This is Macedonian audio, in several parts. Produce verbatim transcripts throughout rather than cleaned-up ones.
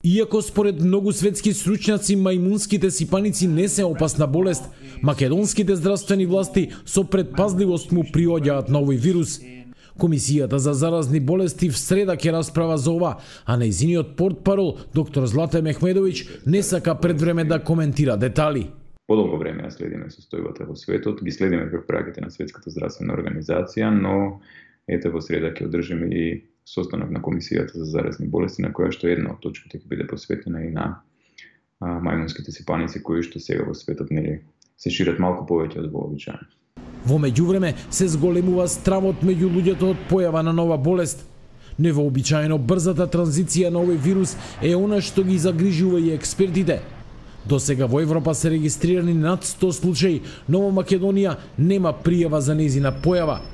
Иако според многу светски стручњаци мајмунските сипаници не се опасна болест, македонските здравствени власти со предпазливост му приоѓаат на овој вирус. Комисијата за заразни болести в среда ќе расправа за ова, а нејзиниот портпарол доктор Злате Мехмедович не сака пред време да коментира детали. Подолго време ја следиме состојбата во светот, ги следиме препораките на Светската здравствена организација, но ете во среда ќе одржиме и состанок на Комисијата за заразни болести, на која што една од точките ќе биде посветена и на а, мајмунските сипаници, кои што сега во светот нели се шират малку повеќе од вообичаено. Во меѓувреме се зголемува стравот меѓу луѓето од појава на нова болест. Невообичаено брзата транзиција на овој вирус е она што ги загрижува и експертите. До сега во Европа се регистрирани над сто случаи, но во Македонија нема пријава за нејзина појава.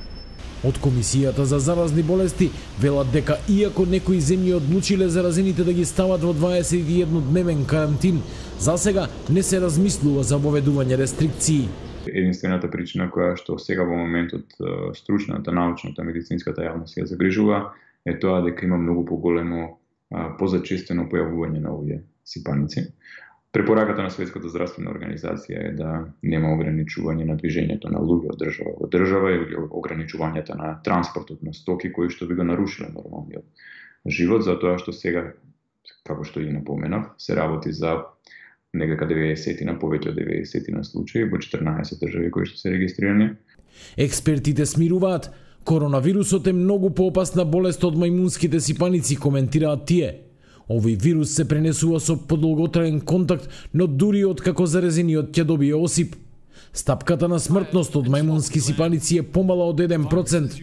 Од Комисијата за заразни болести велат дека иако некои земји одлучиле заразените да ги стават во дваесет и еднодневен карантин, за сега не се размислува за воведување рестрикции. Единствената причина која што сега во моментот стручната, научната, медицинската јавност ја загрижува е тоа дека има многу поголемо, позачестено појавување на овие сипаници. Препораката на Светската здравствена организација е да нема ограничување на движењето на луѓе од држава во држава или ограничувањето на транспортот на стоки кои што би го нарушиле нормалниот живот, затоа што сега, како што и напоменав, се работи за некака деветдесет на повеќе од деветдесет на случаи во четрнаесет држави кои што се регистрирани. Експертите смируваат, коронавирусот е многу поопасна болест од мајмунските сипаници, коментираат тие. Овој вирус се пренесува со подолготраен контакт, но дури од како заразениот ќе добие осип. Стапката на смртност од мајмунски сипаници е помала од еден процент.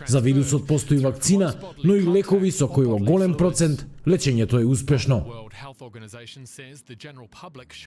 За вирусот постои вакцина, но и лекови со кои во голем процент лечењето е успешно.